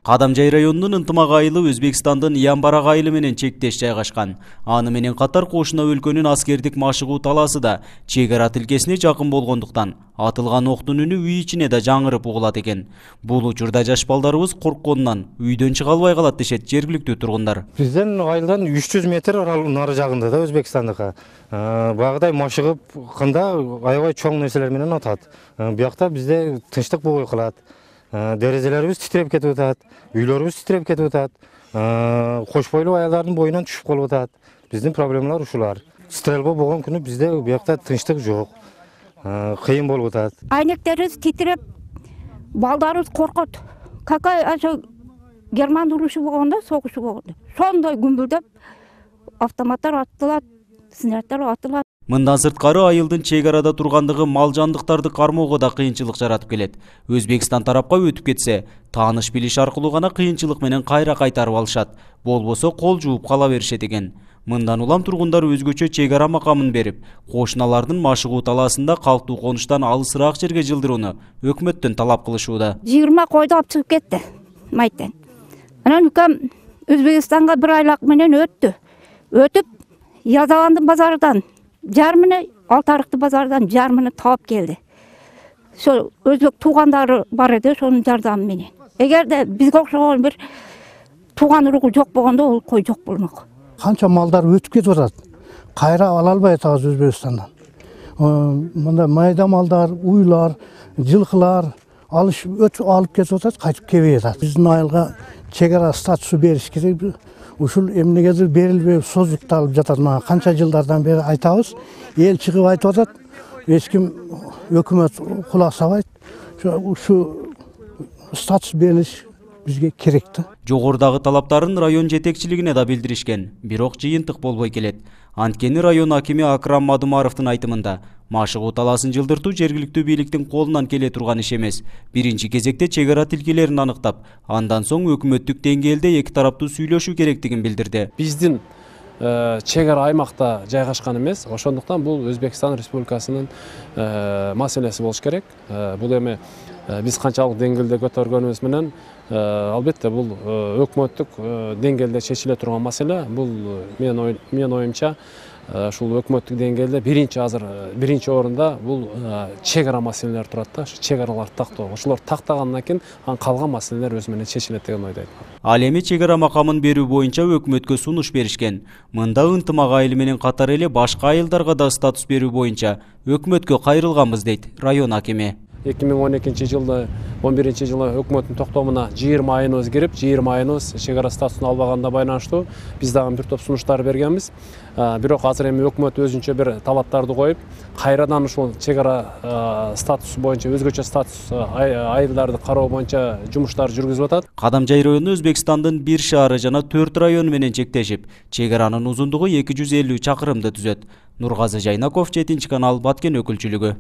Кадамжай районунун Ынтымак айылы Өзбекстандын Ямбарак айылы менен чектеш жайгашкан. Аны менен катар кошуна өлкөнүн аскердик машыгуу талаасы да чек ара тилкесине жакын болгондуктан атылган октун үнү үй ичине да жаңырып угулат экен. Бул учурда жаш балдарыбыз коркконунан үйдөн чыга албай калат дешет жергиликтүү тургундар. Бизден айылдан 300 метр нары жагында да Өзбекстандыкка. Багыдай машыгып кында аябай чоң нерселер менен атат. Биякта бизде тынчтык болбой калат. Дерезелерибиз титиреп кетип атат, үйлөрүбүз титиреп кетип атат, кош бойлуу аялдардын боюнан түшүп калып атат. Биздин проблемалар ушулар. Стрельба болгон күнү бизде биякта тынчтык жок. Кыйын болуп атат. Айнектерибиз титиреп, балдарыбыз коркот. Какай ошо Герман урушу болгондо, согушу болгондо. Сондой күмбүлдөп автоматтар атылат, снарядтар атылат. Мындан сырткары айылдын чек арада тургандыгы мал жандыктарды кармоого да кыйынчылык жаратып келет. Өзбекстан тарапка өтүп кетсе, тааныш билиш аркылуу гана кыйынчылык менен кайра кайтарып алышат. Болбосо кол жууп кала беришет экен. Мындан улам тургундар өзгөчө чек ара макамын берип, кошуналардын машыгуу талаасында калктуу конуштан алысыраак жерге жылдырууну өкмөттөн талап кылышууда. 20 койду алып чыгып кетти майттан. Анан укам Өзбекстанга бир айлак менен өттү. Өтүп, Язаландын базарынан жармыны, Алтарыкты базардан жармыны таап келди. Ошо өзбек туугандары бар эди, ошонун жардамы менен. Эгерде бизге окшогон бир тууган уругу жок болгондо ол кой жок болмок. Канча малдар өтүп кетип атат. Кайра ала албай атабыз Өзбекстандан. Мында майда малдар, уйлар, жылкылар өтүп алып кетип атат, кайтып келбей атат. Биздин айылга чек ара статусу бериш керек. Ушул эмнегедир берилбей создукталып жатат. Мага канча жылдардан бери айтабыз. Эл чыгып айтып атат. Эч ким өкмөт кулак сабайт. Ушу статус берилиш бизге керек да. Жогорудагы талаптарын район жетекчилигине да билдиришкен, бирок жыйынтык болбой келет. Анткени район акими Акрам Мадумаровдун айтымында, машыгуу талаасын жылдыртуу жергиликтүү бийликтин колунан келе турган иш эмес. Биринчи кезекте чек ара тилкелерин аныктап, андан соң өкмөттүк деңгээлде эки тараптуу сүйлөшүү керектигин билдирди. Биздин чек ара аймакта жайгашкан эмес, ошондуктан бул Өзбекстан Республикасынын маселеси болуш керек. Бул эми биз канчалык деңгээлде көтөргөнүбүз менен албетте бул өкмөттүк деңгээлде чечиле турган маселе. Бул менин оюмча ушул өкмөттүк деңгээлде биринчи орунда бул чек ара маселелер турат да. Чек араларды тактоо. Ошолор тактагандан кийин калган маселелер өзү менен чечилет деген ойдойм. Ал эми чек ара макамын берүү боюнча өкмөткө сунуш беришкен. Мында Ынтымак айылы менен катар эле башка айылдарга да статус берүү боюнча өкмөткө кайрылганбыз дейт район акими. 2012-жылы, 11-жылы өкмөттүн токтомуна 20 айыбыз кирип, 20 айыбыз чек ара статусун албаганда байланыштуу биз дагы бир топ сунуштар бергенбиз. Бирок азыр эми өкмөт өзүнчө бир талаптарды коюп, кайрадан ушул чек ара статусу боюнча өзгөчө статус айылдарды кароо боюнча жумуштар жүргүзүп атат. Кадамжай району Өзбекстандын бир шаары жана 4 району менен чектешип, чек аранын узундугу 250 чакырымды түзөт. Нургазы Жайнаков, 7 канал, Баткен өкүлчүлүгү.